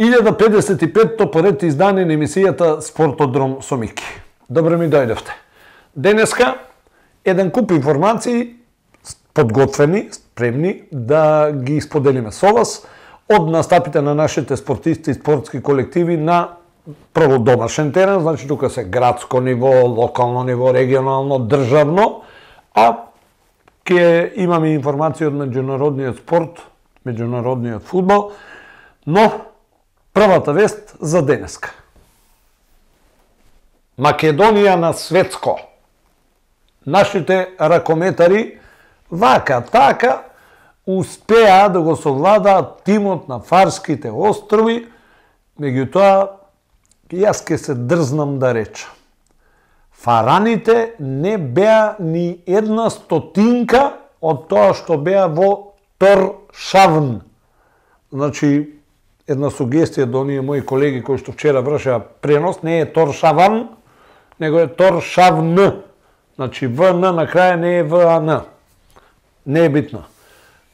...1055-то поред издание на емисијата Спортодром со Мики. Добро ми дојдовте. Денеска еден куп информации подготвени, спремни да ги споделиме со вас од настапите на нашите спортисти и спортски колективи на прво домашен терен, значи тука се градско ниво, локално ниво, регионално, државно, а ќе имаме информации од меѓународниот спорт, меѓународниот фудбал, но првата вест за денеска. Македонија на светско. Нашите ракометари вака така успеа да го совладаат тимот на Фарските острови, меѓутоа јас ке се дрзнам да речам. Фараните не беа ни една стотинка од тоа што беа во Торшавн. Значи, една сугестија до оние мои колеги кои што вчера вршеа пренос, не е Торшаван, него е Торшавн. Значи ВН на крај не е ВАН. Не е битно.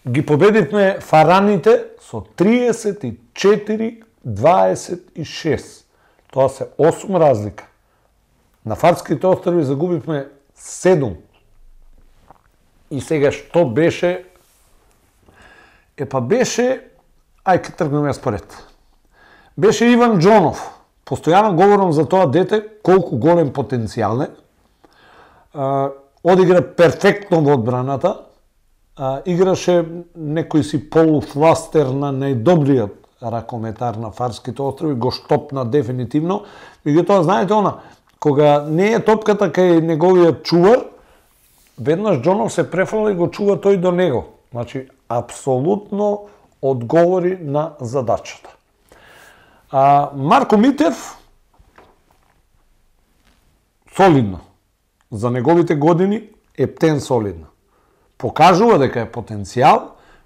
Ги победивме фараните со 34-26. Тоа се 8 разлика. На Фарските острови загубивме 7. И сега што беше? Беше, ај ке тргнеме според. Беше Иван Џонов. Постојано говорам за тоа дете, колку голем потенцијал е. Одигра перфектно во одбраната. Играше некој си полуфластер на најдобриот ракометар на Фарските острови, го штопна дефинитивно. Меѓутоа, знаете кога не е топката кај неговиот чувар, веднаш Џонов се префала и го чува тој до него. Значи, апсолутно одговори на задачата. Марко Митев, солидно. За неговите години ептен солидно. Покажува дека е потенцијал,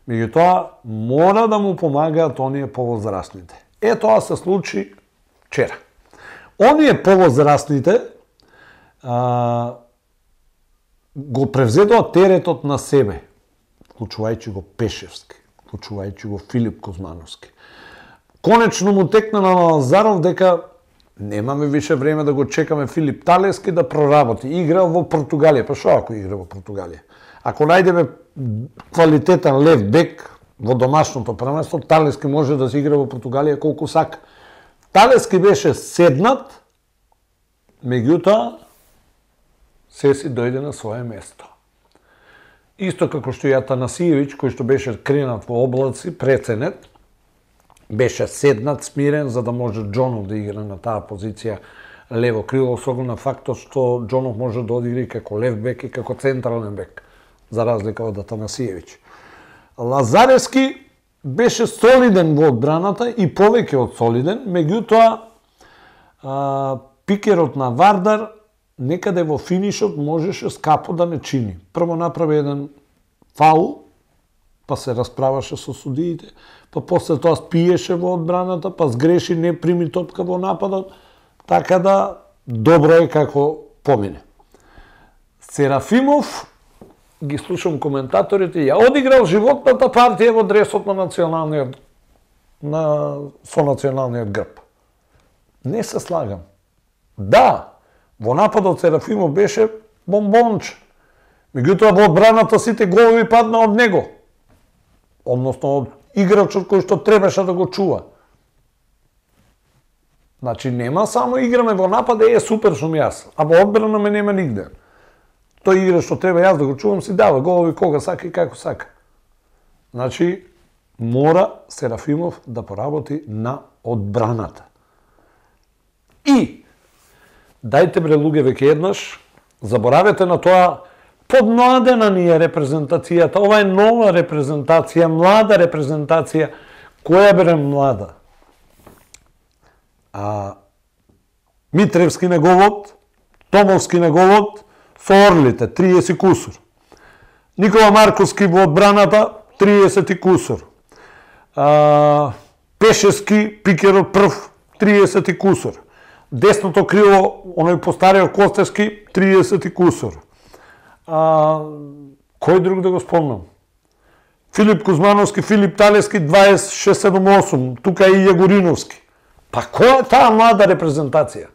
меѓутоа мора да му помагаат оние повозрастните. Тоа се случи вчера. Оние повозрастните го превзедоа теретот на себе, вклучувајќи го Пешевски, вклучувајќи го Филип Кузмановски. Конечно му текна на Лазаров дека немаме више време да го чекаме Филип Талески да проработи. Игра во Португалија. Па што ако игра во Португалија? Ако најдеме квалитетен лев бек во домашното првенство, Талески може да се игра во Португалија колку сака. Талески беше седнат, меѓутоа се си дојде на свое место. Исто како што и Атанасиевиќ, кој што беше кренат во облаци, преценет, беше седнат, смирен, за да може Џонов да игра на таа позиција лево крило, с оглед на фактот што Џонов може да одигра и како лев бек и како централен бек, за разлика од Атанасиевиќ. Лазаревски беше солиден во одбраната и повеќе од солиден, меѓутоа пикерот на Вардар некаде во финишот можеше скапо да не чини. Прво направи еден фаул, па се расправаше со судиите, па после тоа спиеше во одбраната, па сгреши, не прими топка во нападот, така да добро е како помине. Серафимов, ги слушам коментаторите, ја одиграл животната партија во дресот на националниот, со националниот грб. Не се слагам. Да, во нападот Серафимов беше бомбонче. Меѓутоа во одбраната сите голови падна од него. Односно од играчот кој што требаше да го чува. Значи нема само играме во напад, супер сум јас, а во одбрана ме нема нигде. Тој игра што треба јас да го чувам си дава голови кога сака и како сака. Значи мора Серафимов да поработи на одбраната. И дајте бре луѓе веќе еднаш, заборавете на тоа, подмладена ни е репрезентацијата, ова е нова репрезентација, млада репрезентација. Која бре млада? Митревски неговот, Томовски на голот со Орлите, 30 кусур. Никола Марковски во одбраната, 30 кусур. Пешески, пикерот прв, 30 кусур. Десното крило, оној постариот Костевски, 30 кусур. Кој друг да го спомнам? Филип Кузмановски, Филип Талевски, 26-78, тука и Јагориновски. Па која е таа млада репрезентација?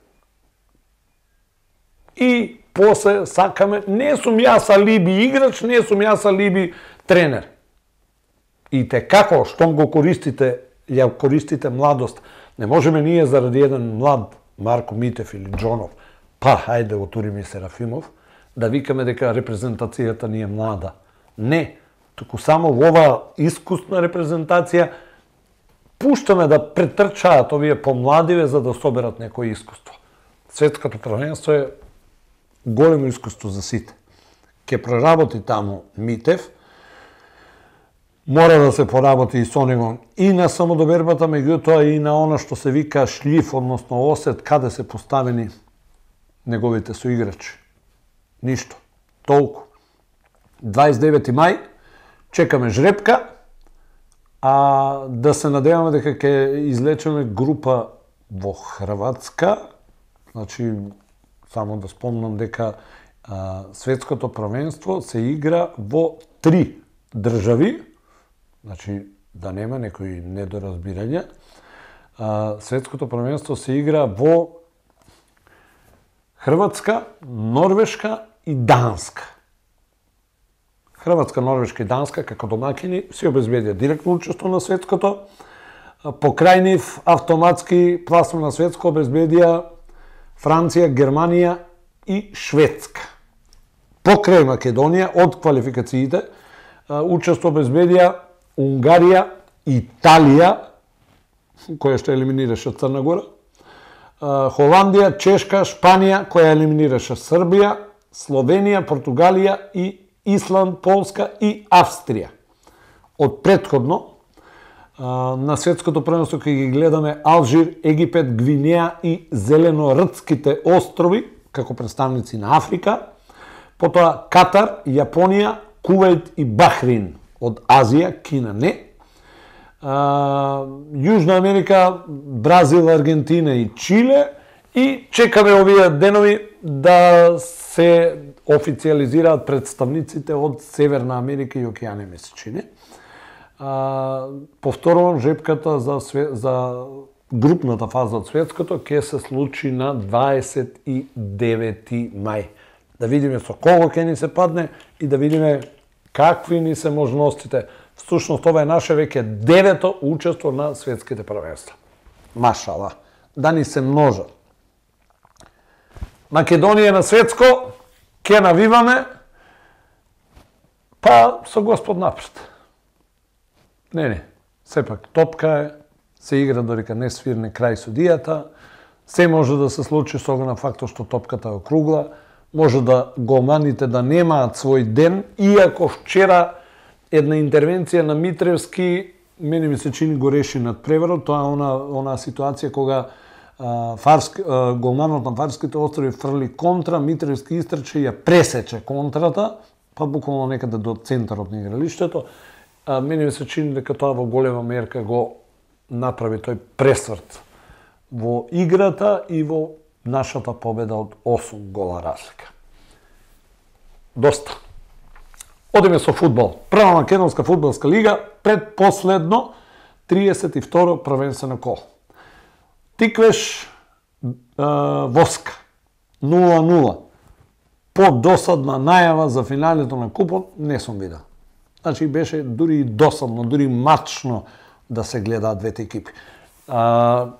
И после сакаме, не сум јас алиби играч, не сум јас алиби тренер. И те како, штом го користите, ја користите младост, не можеме ние заради еден млад Марко Митев или Джонов, па хајде го туриме Серафимов, да викаме дека репрезентацијата ни е млада. Не, туку само во оваа искусна репрезентација пуштаме да претрчаат овие помладиве за да соберат некој искуство. Светското првенство е големо искуство за сите. Ке проработи таму Митев, мора да се поработи и со него и на самодобербата, меѓутоа и на она што се вика шлиф, односно осет, каде се поставени неговите соиграчи. Ништо. Толку. 29. мај, чекаме жребка, а да се надеваме дека ќе излечеме група во Хрватска. Значи, само да спомнам дека светското првенство се игра во 3 држави, значи да нема некои недоразбирања. Светското првенство се игра во Хрватска, Норвешка и Данска. Хрватска, Норвешка и Данска како домакини си обезбедија директно учество на светското. Покрај нив автоматски пласман на светско обезбедија Франција, Германија и Шведска. Покрај Македонија од квалификациите учество обезбедија Унгарија, Италија, која што елиминираше Црна Гора, Холандија, Чешка, Шпанија, која елиминираше Србија, Словенија, Португалија и Исланд, Полска и Австрија. Од претходно, на светското првенство кога ги гледаме Алжир, Египет, Гвинеја и Зеленордските острови, како представници на Африка, потоа Катар, Јапонија, Кувајт и Бахрин од Азија, Кина не, Јужна Америка, Бразил, Аргентина и Чиле, и чекаме овие денови да се официализираат представниците од Северна Америка и Океане месечини. Повторувам, жепката за групната фаза од светското ќе се случи на 29 мај. Да видиме со кого ќе ни се падне и да видиме какви ни се можностите. Всушност, ова е наше веќе 9-то учество на светските првенства. Машала, да ни се множат. Македонија на светско, ќе навиваме, па со Господ напред. Не, сепак топка е, се игра додека не свирне крај судијата, се може да се случи со на фактот што топката е округла, може да голманите да немаат свој ден, иако вчера една интервенција на Митревски, мене ми се чини го реши над преварот, тоа е она ситуација кога голманот на Фарските острови фрли контра, Митревски истрче и ја пресече контрата, па буквално некаде до центарот на игралиштето. Мене ми се чини дека тоа во голема мерка го направи тој пресврт во играта и во нашата победа од 8 гола разлика. Доста. Одиме со фудбал. Прва македонска фудбалска лига, предпоследно 32-ро првенствено коло. Тиквеш Воска 0-0. По-досадна најава за финалето на купот не сум видел. Значи беше дури досадно, дури мачно да се гледаат двете екипи. Да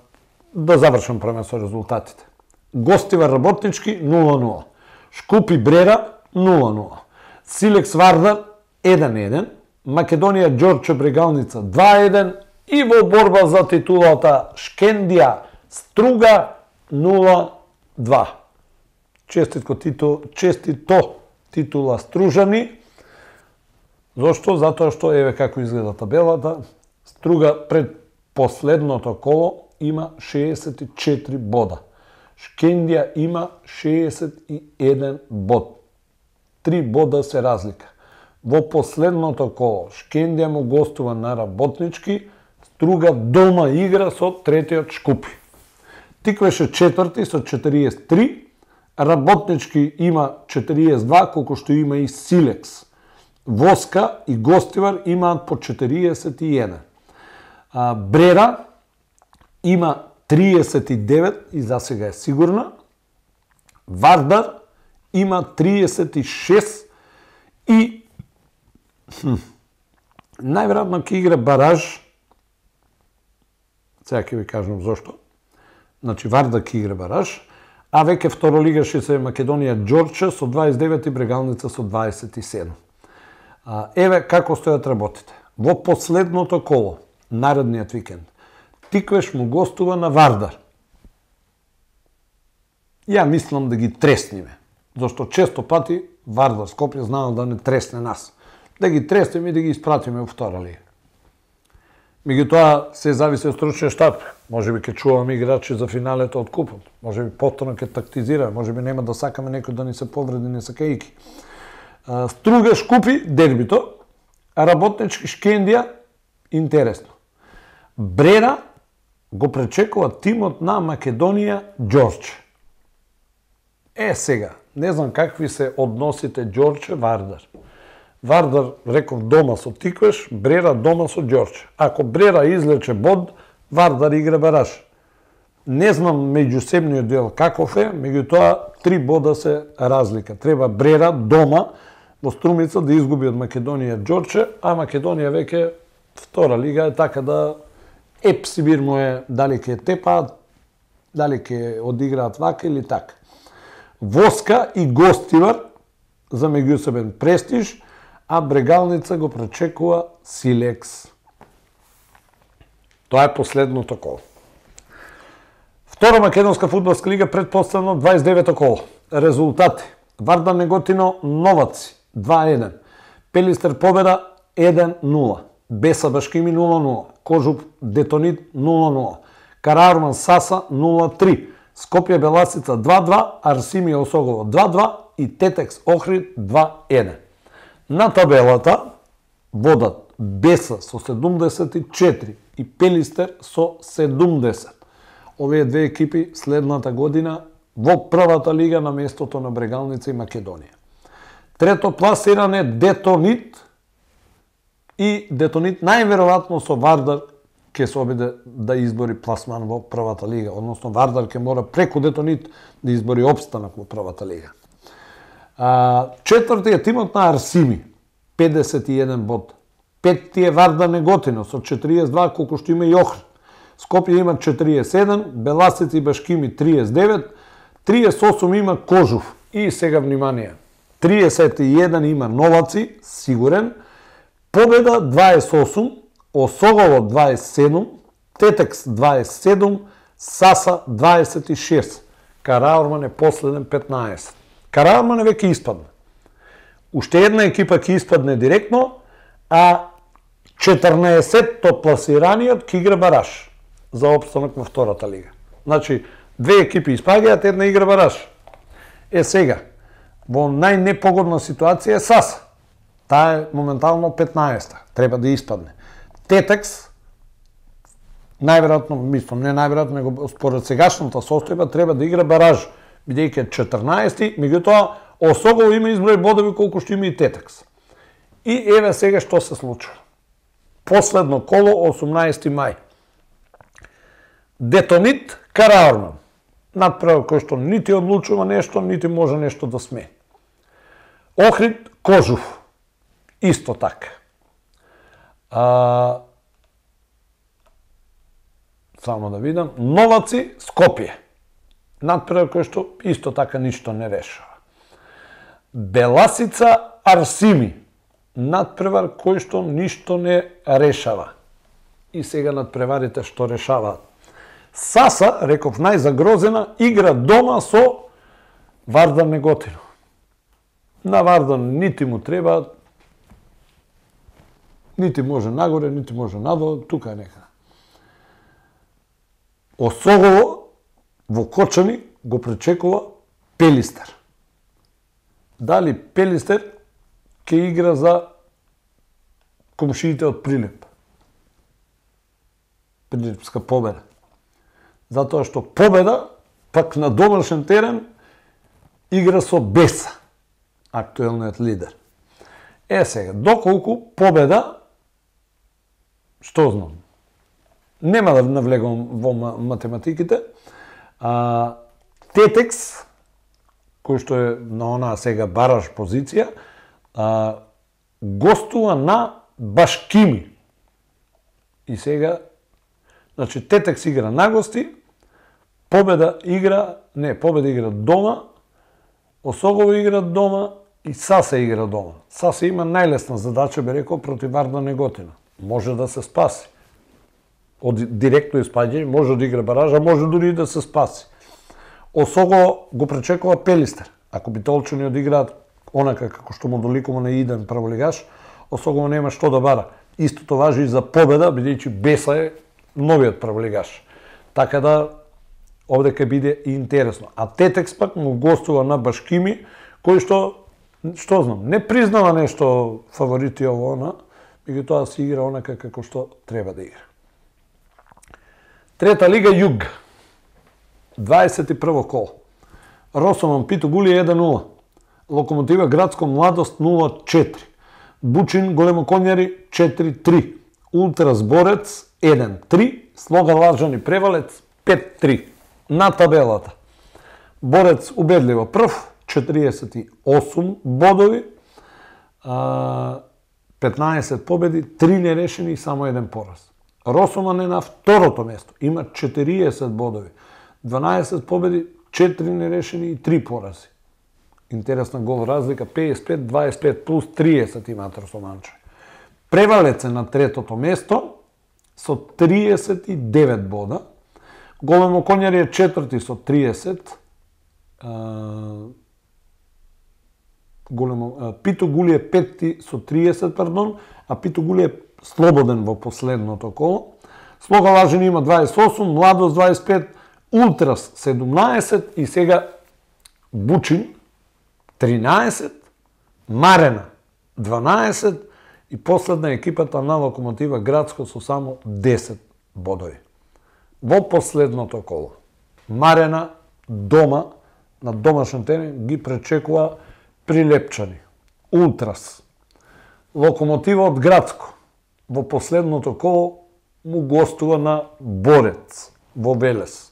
завршам првен со резултатите. Гостивар Работнички 0-0. Шкупи Брера 0-0. Силекс Вардар 1-1. Македонија Ѓорче Брегалница 2-1. И во борба за титулата Шкендија Струга 0-2. Честито титула Стружани. Зошто? Затоа што еве како изгледа табелата. Струга пред последното коло има 64 бода. Шкендија има 61 бод. 3 бода се разлика. Во последното коло Шкендија му гостува на Работнички, Струга дома игра со третиот Шкупи. Тиквеше четврти со 43, Работнички има 42, колку што има и Силекс. Воска и Гостивар имаат по 41. Брера има 39 и за сега е сигурна. Вардар има 36 и најверојатно ќе игра бараж. Сега ќе ви кажам зошто. Значи Вардар ќе игра бараж, а веќе второлигаши се Македонија Ѓорче со 29 и Брегалница со 27. Еве како стојат работите. Во последното коло, наредниот викенд, Тиквеш му гостува на Вардар. Ја мислам да ги тресниме, зашто често пати Вардар Скопје знаат да не тресне нас. Да ги треснеме и да ги испратиме во втора лига. Меѓутоа се зависи од стручниот штаб. Можеби ќе чуваме играчи за финалето од купот. Можеби повторно ќе тактизираме, можеби нема да сакаме некој да ни се повреди не сакајки. Струга Шкупи дербито, а Работнички Шкендија интересно. Брера го пречекува тимот на Македонија Ѓорче. Сега, не знам какви се односите Ѓорче Вардар. Вардар, реков, дома со Тиквеш, Брера дома со Ѓорче. Ако Брера излече бод, Вардар игра бараж. Не знам меѓусебниот дел каков е, меѓутоа 3 бода се разлика. Треба Брера дома во Струмица да изгуби од Македонија Ѓорче, а Македонија веќе втора лига е така да епсибир му е дали ќе тепаат, дали ќе одиграат вака или така. Воска и Гостивар за меѓусебен престиж, а Брегалница го пречекува Силекс. Тоа е последното коло. Втора македонска фудбалска лига предпоставено 29-то коло. Резултати: Вардар Неготино Новаци 2-1, Пелистер победа 1-0, Беса Башкими 0-0, Кожуп Детонит 0-0, Караурман Саса 0-3, Скопје Беласица 2-2, Арсимија Осогово 2-2 и Тетекс Охрид 2-1. На табелата водат Беса со 74 и Пелистер со 70. Овие две екипи следната година во првата лига на местото на Брегалница и Македонија. Трето пласиран е Детонит и Детонит најверојатно со Вардар ќе се обиде да избори пласман во првата лига, односно Вардар ќе мора преку Детонит да избори опстанок во првата лига. Четврти е тимот на Арсими, 51 бод. Петти е Вардар Неготино со 42, колку што има и Охрид. Скопје има 47, Беласица и Башкими 39, 38 има Кожув. И сега внимание, 31 има Новаци, сигурен, Победа 28, Осогово 27, Тетекс 27, Саса 26. Караурман е последен 15. Караурман е веќе испадне. Уште една екипа ќе испадне директно, а 14-то пласираниот ќе игра бараж за опстанок во втората лига. Значи, две екипи испаѓаат, една игра бараж. Сега, во најнепогодна ситуација е Саса. Таа е моментално 15-та. Треба да испадне. Тетекс, најверојатно, мислам, не најверојатно, него според сегашната состојба треба да игра бараж, бидејќи е 14-ти, меѓутоа Осогово има изброј бодови колку што има и Тетекс. И еве сега што се случува. Последно коло 18 мај. Детонит Караурман. Надпревар кој што нити одлучува нешто, нити може нешто да смени. Охрид Кожув. Исто така. Само да видам. Новаци Скопје. Надпревар кој што исто така ништо не решава. Беласица Арсими. Надпревар кој што ништо не решава. И сега надпреварите што решаваат. Саса, реков најзагрозена, игра дома со Вардар Неготино. На Вардар нити му треба, нити може нагоре, нити може надолу, тука е нека. Осогово во Кочани, го пречекува Пелистер. Дали Пелистер ќе игра за комшиите од Прилеп? Прилепска победа. Затоа што победа пак на домашен терен игра со Беса, актуелниот лидер. Сега, доколку победа, што знам, нема да навлегам во математиките, Тетекс, кој што е на онаа сега бараш позиција, гостува на Башкими. И сега, значи, Тетекс игра на гости, Победа игра дома, Осогово игра дома и Сасе игра дома. Сасе има најлесна задача, би рекол, против Вардар Неготина. Може да се спаси. Од директно испаѓање, може да игра баража, може дури и да се спаси. Осогово го пречекува Пелистер. Ако битолчани одиграат онака како што му доликува на иден праволигаш, Осогово нема што да бара. Истото важи и за Победа, бидејќи Беса е новиот праволигаш. Така да овде ќе биде и интересно. А Тетекс пак му гостува на Башкими, кој што знам, не признава нешто фаворити ово она, меѓутоа си игра онака како што треба да игра. Трета лига Југ. 21 коло. Росоман Питу Гули 1-0. Локомотива Градско Младост 0-4. Бучин Големоконјари 4-3. Ултрас Борец 1-3. Слога Лажани Превалец 5-3. На табелата. Борец убедливо прв, 48 бодови, 15 победи, 3 нерешени и само 1 пораз. Росоман е на второто место, има 40 бодови, 12 победи, 4 нерешени и 3 порази. Интересна гол разлика, 55-25 плюс 30 имаат Росоманче. Превалец е на третото место со 39 бода, Големоконјари е четврти со 30, Питу Гули е петти со 30, пардон, а Питу Гули е слободен во последното коло. Слога Лажани има 28, Младост 25, Ултрас 17 и сега Бучин 13, Марена 12 и последна екипата на Локомотива Градско со само 10 бодови. Во последното коло, Марена дома, на домашен терен, ги пречекува Прилепчани, Ултрас. Локомотива од Градско, во последното коло, му гостува на Борец, во Велес.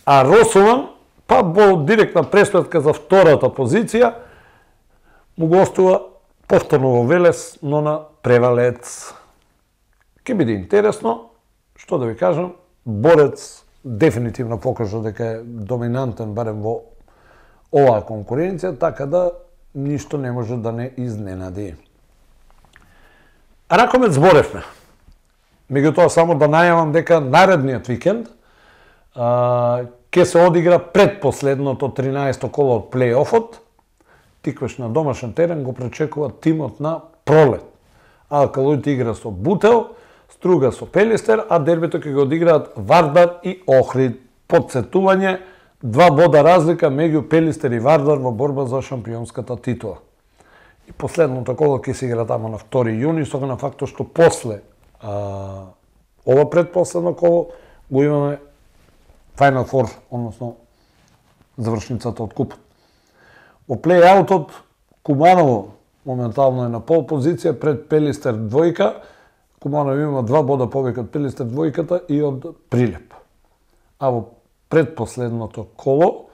А Росоман, па во директна преспретка за втората позиција, му гостува повторно во Велес, но на Превалец. Ке биде интересно, што да ви кажам, Борец дефинитивно покажа дека е доминантен барем во оваа конкуренција, така да ништо не може да не изненади. Ракомет зборевме. Меѓутоа само да најавам дека наредниот викенд ќе се одигра предпоследното 13-то коло од плей-офот. Тиквеш на домашен терен го пречекува тимот на Пролет. Алкалоид игра со Бутел, Струга со Пелистер, а дербито ќе го одиграат Вардар и Охрид. Подсетување, 2 бода разлика меѓу Пелистер и Вардар во борба за шампионската титула. И последното коло ќе се игра тамо на 2 јуни, со на фактот што после ова предпоследно коло го имаме Final Four, односно завршницата од купот. Во плей-аутот Куманово моментално е на пол позиција пред Пелистер двојка. Куманово има 2 бода повеќе од Пелистер двојката и од Прилеп. А во предпоследното коло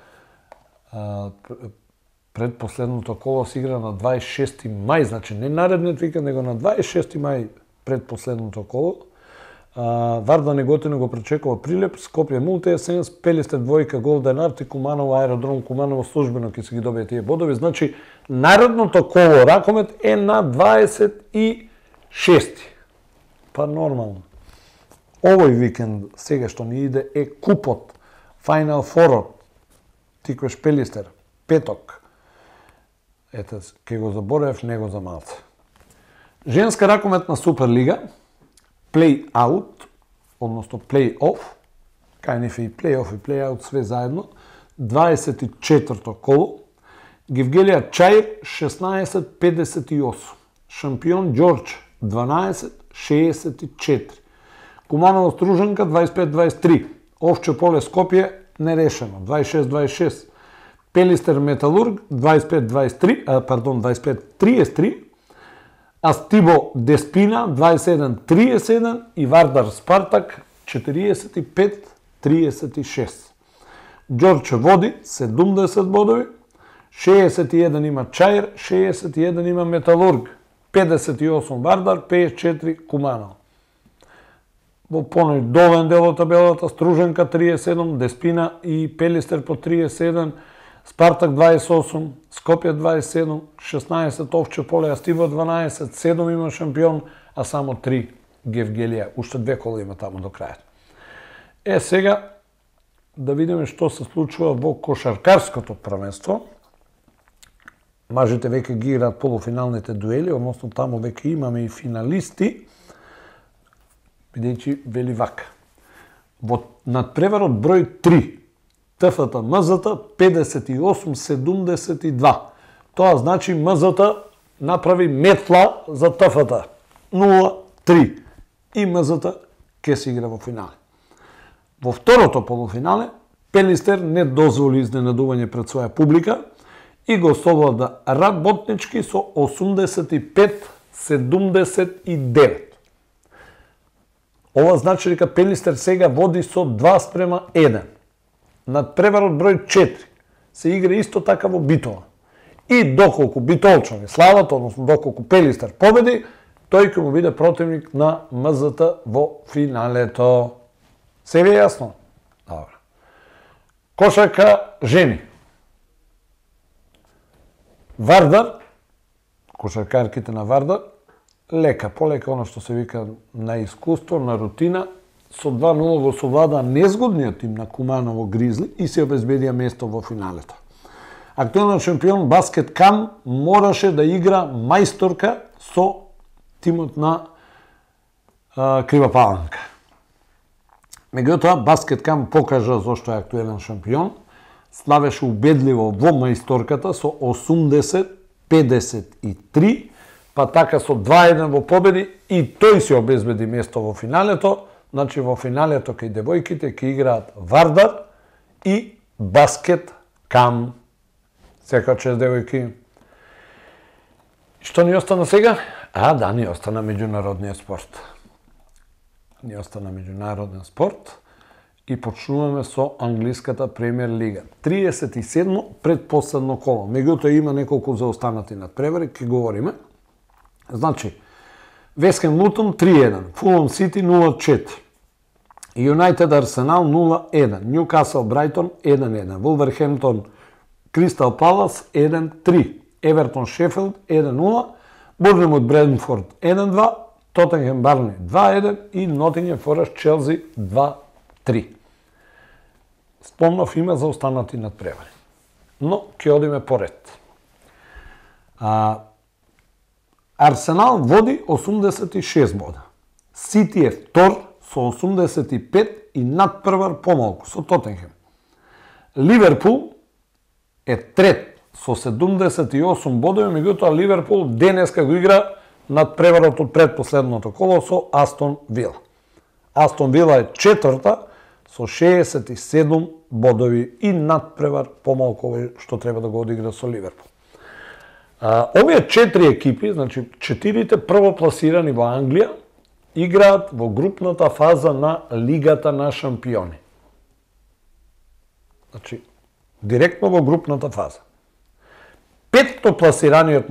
се игра на 26 мај, значи не наредниот викенд, него на 26 мај предпоследното коло. Вардар Неготина го пречекува Прилеп, Скопје Мултиесенс, Пелистер двојка Голден Арт и Куманово Аеродром Куманово службено ќе се ги добие тие бодови. Значи наредното коло Ракомет е на 26. Па нормално. Овој викенд сега што ни иде е купот, Final Four, Тиквеш Пелистер, петок. Ете, ке го заборев, него за малце. Женска ракометна Суперлига, плей-аут, односно плей-оф, кај ниф и плей-оф и плей-аут све заедно, 24-то коло, Гевгелија Чаир 16-58, шампион Ѓорџ 12-64, Куманово Стружанка 25-23, Овче поле Скопје нерешено 26-26, Пелистер Металург 25-33, Астибо Деспина 27-31 и Вардар Спартак 45-36. Ѓорџ води 70 бодови, 61 има Чаир, 61 има Металург, 58 Вардар, 54 Куманово. Во понајдолен дел од табелата Стружанка 37, Деспина и Пелистер по 37, Спартак 28, Скопје 27, 16 Овче поле, Астибо 12, 7 има шампион, а само 3 Гевгелија. Уште 2 кола има таму до крајот. Сега да видиме што се случува во кошаркарското првенство. Мажите веќе ги играат полуфиналните дуели, односно таму веќе имаме и финалисти, бидејќи вели вака. Во надпреварот број 3, ТФТ МЗТ 58-72. Тоа значи МЗТ направи метла за ТФТ 0-3 и МЗТ ќе се игра во финале. Во второто полуфинале Пелистер не дозволи изненадување пред своја публика и го совлада Работнички со 85-79. Ова значи дека Пелистер сега води со 2:1. Надпреварот број 4 се игра исто така во Битола. И доколку битолчани слават, односно доколку Пелистер победи, тој ќе му биде противник на МЗТ во финалето. Се ви е јасно? Добро. Кошарка жени. Вардар, кошаркарките на Вардар, лека, полека, оно што се вика на искуство, на рутина, со 2:0 го совлада незгодниот тим на Куманово Гризли и се обезбедија место во финалето. Актуелен шампион Баскет Кам мораше да игра мајсторка со тимот на Крива Паланка. Меѓутоа, Баскет Кам покажа зошто е актуелен шампион, славеше убедливо во мајсторката со 80-53, па така со 2:1 во победи и тој се обезбеди место во финалето. Значи во финалето кај девојките ќе играат Вардар и Баскет Кам. Сека чест девојки. Што ни остана сега? Да, ни остана меѓународниот спорт. Ни остана меѓународен спорт и почнуваме со англиската премиер лига. 37 предпоследно коло. Меѓутоа има неколку заостанати надпревари, ќе говориме. Значи, Вест-Хем Лутон 3:1, Фулам Сити 0:4, Юнайтед Арсенал 0:1, Ньюкасл Брайтон 1:1, Вулверхемптон Кристал Палас 1:3, Евертон Шефилд 1:0, Борнемут Брентфорд 1:2, Тотенхем Барни 2:1 и Нотингем Форест Челси 2:3. Спомнав има за останати надпревари. Но ќе одиме поред. Арсенал води 86 бода. Сити е втор со 85 и надпревар помалку со Тотенхем. Ливерпул е трет со 78 бодови, меѓутоа Ливерпул денеска го игра надпреварот од предпоследното коло со Астон Вила. Астон Вила е четврта со 67 бодови и надпревар помалку што треба да го одигра со Ливерпул. Овие 4 екипи, значи 4 првопласирани во Англија, играат во групната фаза на Лигата на шампиони. Значи, директно во групната фаза. Петто пласираниот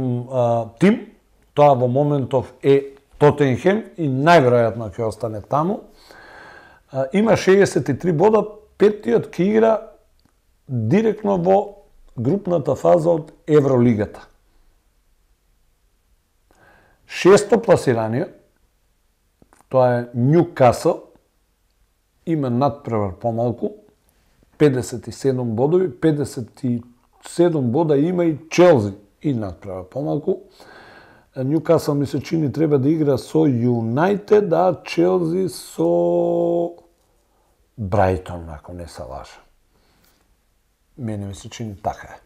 тим, тоа во моментов е Тотенхем и најверојатно ќе остане таму, има 63 бода, петтиот ќе игра директно во групната фаза од Евролигата. Шесто пласираниот, тоа е Ньюкасл, има надпревар помалку, 57 бодови, 57 бода има и Челси и надпревар помалку. Ньюкасл ми се чини треба да игра со Юнайтед, а Челси со Брайтон, ако не се лажа. Мене ми се чини така е.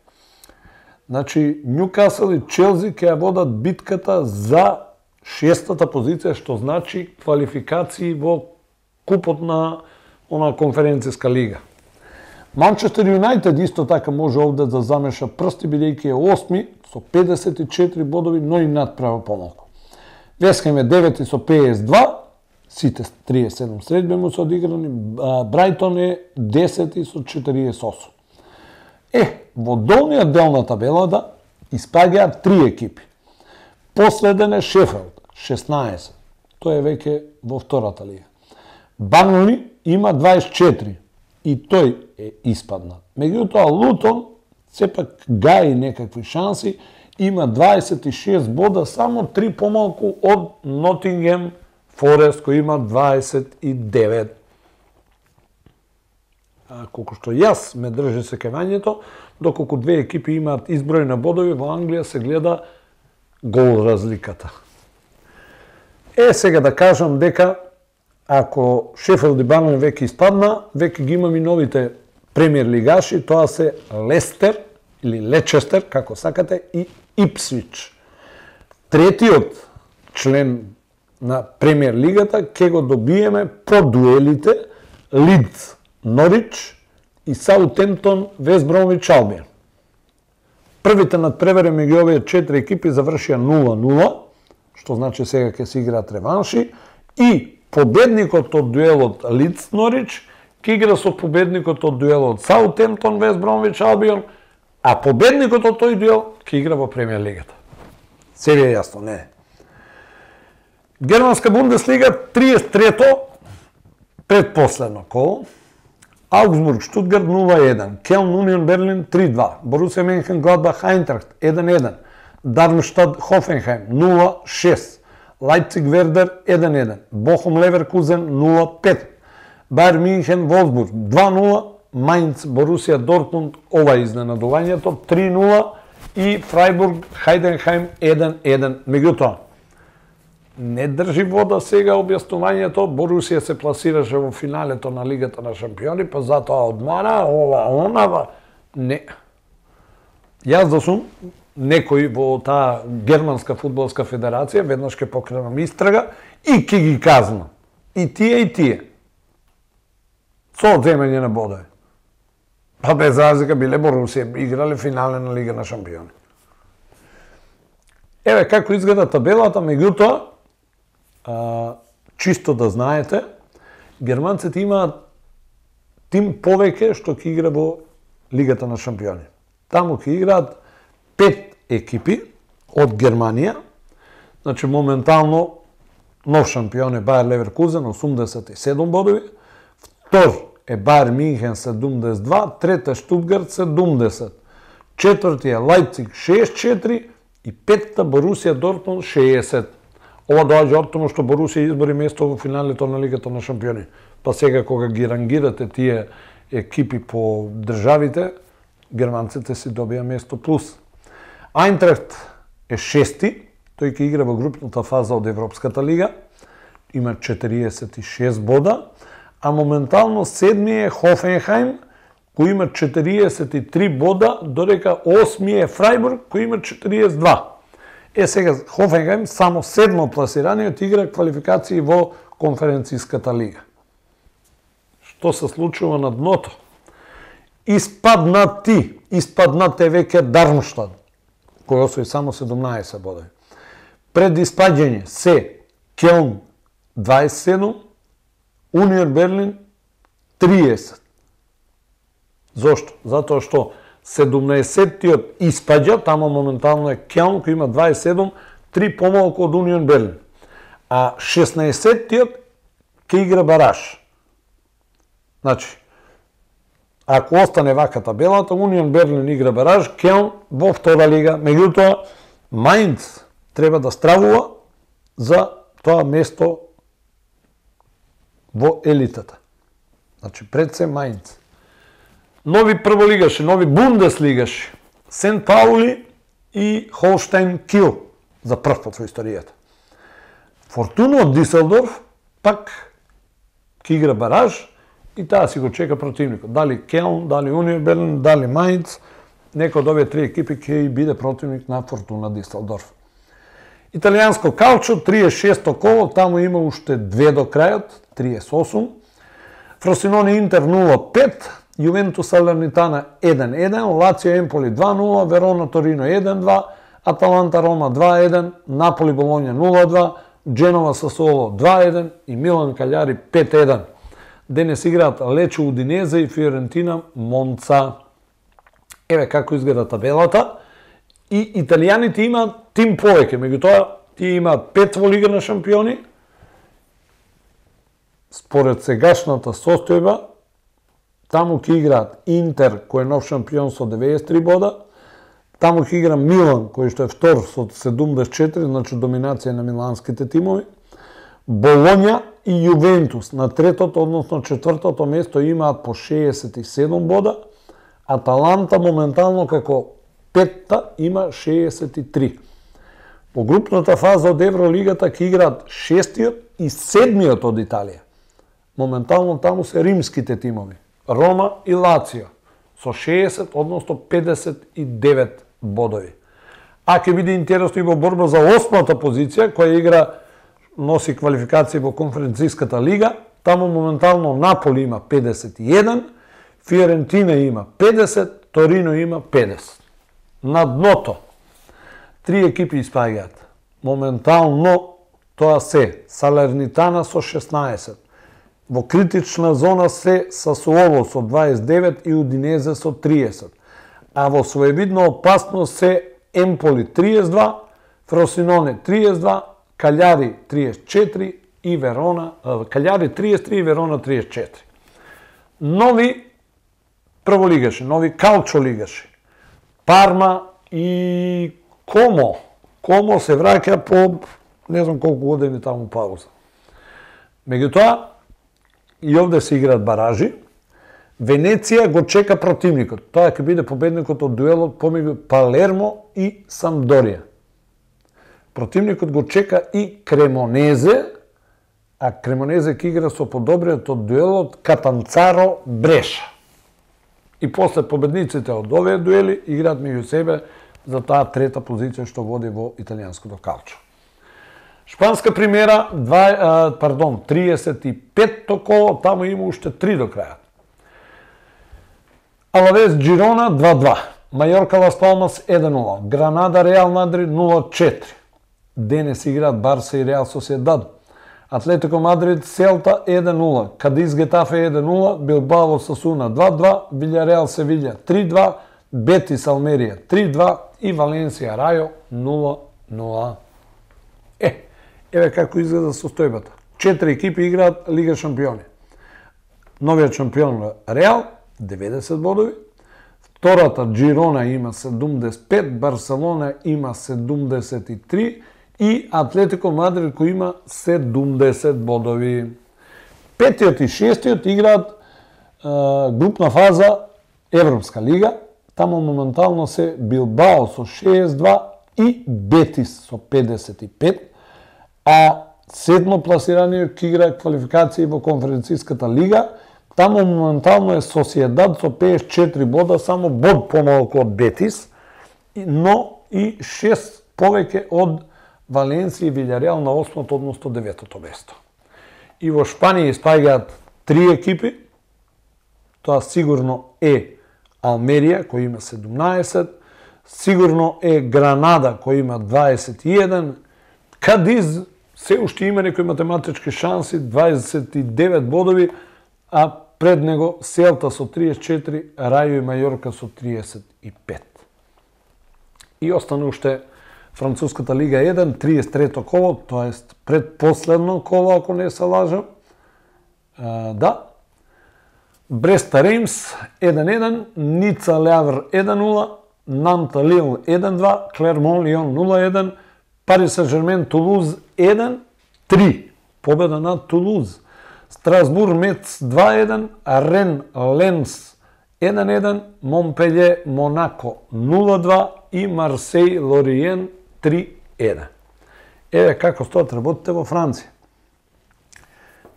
Значи, Њукасл и Челси ќе ја водат битката за 6-та позиција, што значи квалификации во купот на конференцијска лига. Манчестер Юнајтед исто така може овде да замеша прсти, бидејќи е 8 со 54 бодови, но и надправа помалку. Вест Хем е 9 со 52, сите 37 средби му се одиграни, Брајтон е 10 со 48. Во долниот дел на табелата испаѓаат 3 екипи. Последен е Шефелд, 16. Тој е веќе во втората лига. Барнли има 24 и тој е испадна. Меѓутоа Лутон сепак гаи некакви шанси, има 26 бода, само 3 помалку од Нотингем Форест кој има 29. Колку што јас ме држи секевањето, доколку две екипи имаат изброј на бодови, во Англија се гледа гол разликата. Сега да кажам дека ако Шефелд и Барнли веќе испадна, веќе ги имам и новите премиер лигаши, тоа се Лестер или Лечестер, како сакате, и Ипсвич. Третиот член на премиер лигата ќе го добиеме по дуелите Лидс Норич и Саутемптон Вест Бромвич Албион. Првите надпревари меѓу овие 4 екипи завршија 0-0, што значи сега ќе се играат реванши, и победникот од дуелот Лидс Норич ќе игра со победникот од дуелот Саутемптон Вест Бромвич Албион, а победникот од тој дуел ќе игра во премиер лигата. Се ви е јасно, не? Германска Бундеслига 33-то предпоследно коло. Аугсбург Штутгарт 0-1, Келн Унион Берлин 3-2, Борусија Менхенгладбах Айнтрахт 1-1, Дармштад Хофенхайм 0-6, Лајпциг Вердер 1-1, Бохум Леверкузен 0-5, Бајер Минхен Волфсбург 2-0, Мајнц Борусија Дортмунд, ова изненадувањето 3-0 и Фрајбург Хајденхайм 1-1. Меѓутоа, не држи вода сега објаснувањето, Борусија се пласираше во финалето на Лигата на шампиони, па затоа одмара, ова. Не. Јас да сум некој во таа Германска фудбалска федерација, веднаш ќе покренам истрага и ќе ги казнам. И тие. Со одземање на бодови. Па без разлика биле Борусија, играле финале на Лига на шампиони. Еве како изгледа табелата, меѓутоа, чисто да знаете, германците имаат тим повеќе што ќе игра во Лигата на шампиони. Таму ќе играат 5 екипи од Германија, значи моментално нов шампион е Бајер Леверкузен 87 бодови, втор е Бајер Минхен 72, трет е Штутгарт 70, четврти е Лајпциг 64 и петта Борусија Дортмунд 60. Ова доаѓа од тоа што Борусија избори место во финалето на Лигата на шампиони. Па сега кога ги рангирате тие екипи по државите, германците си добија место плюс. Айнтрахт е 6-ти, тој ќе игра во групната фаза од Европската лига, има 46 бода, а моментално 7-ми е Хофенхайм, кој има 43 бода, додека 8-ми е Фрајбург, кој има 42. Сега Хофенхайм само 7-мо пласираниот игра квалификации во конференцијската лига. Што се случува на дното? Испаднате веќе Дармштад, кој освои само 17 бодови. Пред испаѓање се Келн 27, Унион Берлин 30. Зошто? Затоа што 17-тиот испаѓа, тамо моментално е Келн кој има 27, 3 помалку од Унион Берлин. А 16-тиот ќе игра бараж. Значи, ако остане вака табелата, Унион Берлин игра бараж, Келн во втора лига, меѓутоа Мајнц треба да стравува за тоа место во елитата. Значи, пред се Мајнц. Нови прволигаши, нови бундеслигаши, Сент Паули и Холштайн Кил за прв пат во историјата. Фортуна од Диселдорф пак ќе игра бараж и таа си го чека противникот. Дали Келн, дали Унион Берлин, дали Майнц, некој од овие три екипи ќе биде противник на Фортуна Дисселдорф. Италијанско калчо, 36-то коло, таму има уште 2 до крајот, 38. Фросиноне Интер 0-5, Јувентус Салернитана 1-1, Лацио Емполи 2-0, Верона Торино 1-2, Аталанта Рома 2-1, Наполи Болоња 0-2, Дженова Сасуоло 2-1 и Милан Каљари 5-1. Денес играат Лечо Удинезе и Фиорентина Монца. Еве како изгледа табелата. И италијаните имаат тим повеќе, меѓутоа тие имаат 5 во Лига на шампиони. Според сегашната состојба, таму ќе играат Интер, кој е нов шампион со 93 бода, таму ќе игра Милан, кој што е втор со 74, значи доминација на миланските тимови. Болоња и Јувентус на третото, односно четвртото место имаат по 67 бода, Аталанта моментално како петта има 63. По групната фаза од Евролигата ќе играат шестиот и седмиот од Италија. Моментално таму се римските тимови, Рома и Лацио, со 60, односно 59 бодови. А ќе биде интересно и во борба за 8-та позиција, која игра носи квалификација во Конференцијската лига. Таму моментално Наполи има 51, Фиорентина има 50, Торино има 50. На дното, 3 екипи испаѓаат. Моментално тоа се Салернитана со 16. Во критична зона се Сасуоло со 29 и Удинезе со 30. А во своевидна опасност се Емполи 32, Фросиноне 32, Каљари 34 и Верона, Каљари 33 и Верона 34. Нови прволигаши, нови калчо лигаши. Парма и Комо. Комо се враќа по не знам колку години таму пауза. Меѓутоа, и овде се играат баражи. Венеција го чека противникот. Тоа ќе биде победникот од дуелот помеѓу Палермо и Самдорија. Противникот го чека и Кремонезе, а Кремонезе ќе игра со подобриот од дуелот Катанцаро Бреша. И после победниците од овие дуели играат меѓу себе за таа трета позиција што води во италијанското калчо. Шпанска примера, 35-то коло, таму има уште 3 до крајот. Алавес Джирона 2-2, Мајорка Лас Палмас 1-0, Гранада Реал Мадрид 0-4. Денес играат Барса и Реал Соседад. Атлетико Мадрид Селта 1-0, Кадис Гетафе 1-0, Билбао Сасуна 2-2, Вилјареал Севиља 3-2, Бетис Алмерија 3-2 и Валенсија Рајо 0-0. Еве како изгледа состојбата. 4 екипи играат Лига шампиони. Новиот шампион Реал 90 бодови, втората Джирона има 75, Барселона има 73 и Атлетико Мадрид кој има 70 бодови. Петиот и шестиот играат групна фаза Европска лига. Таму моментално се Билбао со 62 и Бетис со 55, а седмо пласираниот ќе игра квалификации во Конференцијската лига. Таму моментално е Соседад со 54 бода, само bod помалку од Бетис, но и 6 повеќе од Валенсија и Вилјареал на 8-то, односно 9-то место. И во Шпанија испаѓаат 3 екипи. Тоа сигурно е Алмерија, кој има 17, сигурно е Гранада, кој има 21, Кадиз се уште има некои математички шанси, 29 бодови, а пред него Селта со 34, Рајо и Мајорка со 35. И остана уште Француската лига 1, 33-то коло, тоест предпоследно коло, ако не се лажам. Да. Бреста Реймс 1-1, Ница Лјавр 1-0, Нанта Лил 1-2, Клермон Лион 0-1, Парис Сен-Жермен Тулуз 1-3, победа над Тулуз. Страсбур Мец 2-1, Рен Ленс 1-1, Монпелје Монако 0-2 и Марсеј Лориен 3-1. Еве како стоат работите во Франција.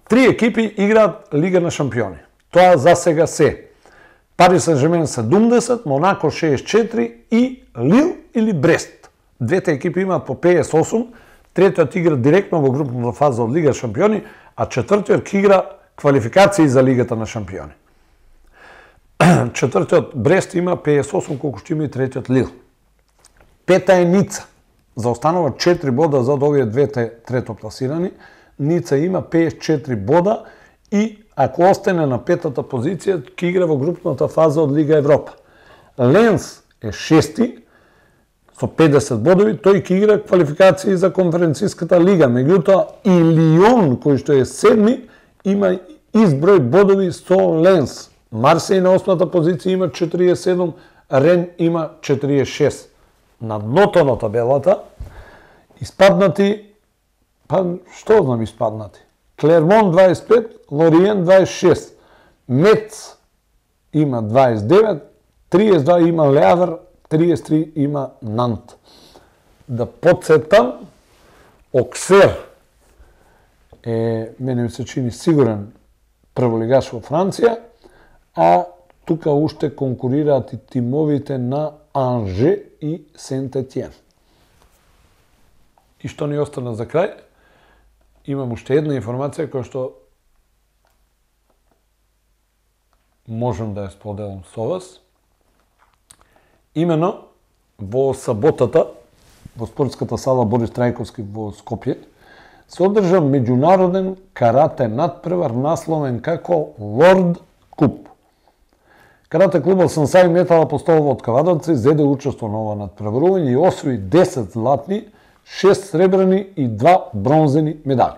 3 екипи играат Лига на шампиони. Тоа за сега се. Пари Сен-Жермен 70, Монако 64 и Лил или Брест. Двете екипи имаат по 58, третиот игра директно во групната фаза од Лига шампиони, а четвртиот ќе игра квалификации за Лигата на шампиони. Четвртиот Брест има 58, колку што има и третиот Лил. Пета е Ница. Заостанува 4 бода за овие двете третопласирани. Ница има 54 бода и ако остане на петата позиција, ќе игра во групната фаза од Лига Европа. Ленс е шести, со 50 бодови, тој ќе игра квалификации за конференциската лига. Меѓутоа, и Лион, кој што е седми, има изброј бодови со Ленс. Марсеј на 8-та позиција има 47, Рен има 46. На дното на табелата, испаднати, па што знам испаднати? Клермон 25, Лориен 26, Мец има 29, 32 има Леавер, 33 има Нант. Да подсетам, Оксер е, мене ми се чини сигурен прволигаш во Франција, а тука уште конкурираат и тимовите на Анже и Сент-Етиен. И што ни остана за крај, имам уште една информација која што можам да ја споделам со вас. Имено, во саботата, во спортската сала Борис Трајковски во Скопје, се одржа меѓународен карате надпревар насловен како Лорд Куп. Карате клубот Сансај Метал Апостолово од Кавадовци зеде учество на ова надпреварување и освои 10 златни, 6 сребрени и 2 бронзени медали.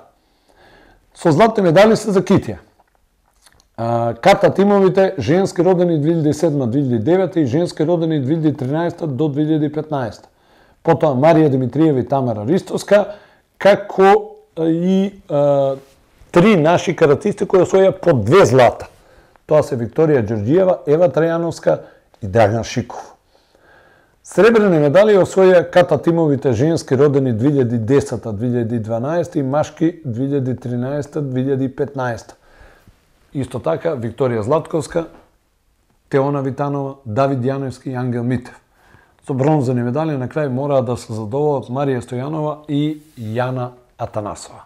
Со златни медали се за Китија. Ката тимовите женски родени 2007-2009 и женски родени 2013 до 2015. Потоа Марија Димитриева и Тамара Ристоска, како и 3 наши каратисти кои освоја по 2 злата. Тоа се Викторија Ѓорѓиева, Ева Трајановска и Драган Шиков. Сребрени медали освоја ката тимовите женски родени 2010-2012 и машки 2013-2015. Исто така Викторија Златковска, Теона Витанова, Давид Јановски и Ангел Митев. Со бронзени медали на крај мора да се задоволат Марија Стојанова и Јана Атанасова.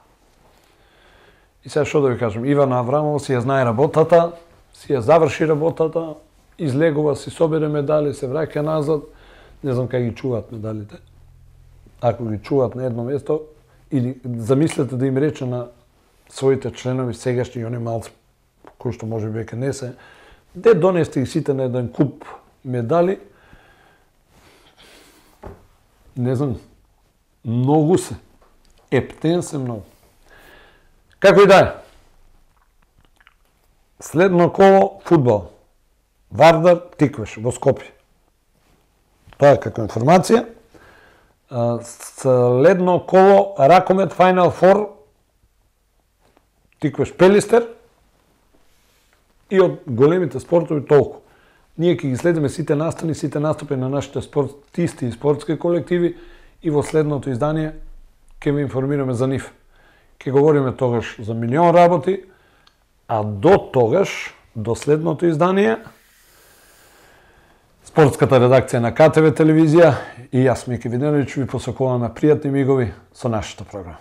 И сега што да ви кажем, Ивана Аврамова си ја знае работата, си ја заврши работата, излегува, си собере медали, се враќа назад, не знам кај ги чуваат медалите. Ако ги чуваат на едно место, или замислете да им рече на своите членови сегашни и они малци, кои што може би веќе не се, де донесте и сите на еден куп медали, не знам, многу се. Ептен се многу. Како и да е. Следно коло фудбал. Вардар Тиквеш во Скопје. Тоа е како информација. Следно коло Ракомет Final Four Тиквеш Пелистер. И од големите спортови толку. Ние ќе ги следиме сите настани, сите настапи на нашите спортисти и спортски колективи и во следното издание ќе ви информираме за нив. Ќе говориме тогаш за милион работи, а до тогаш, до следното издание, спортската редакција на КТВ телевизија и јас, Мики Виденовиќ, ви посакуваме пријатни мигови со нашата програма.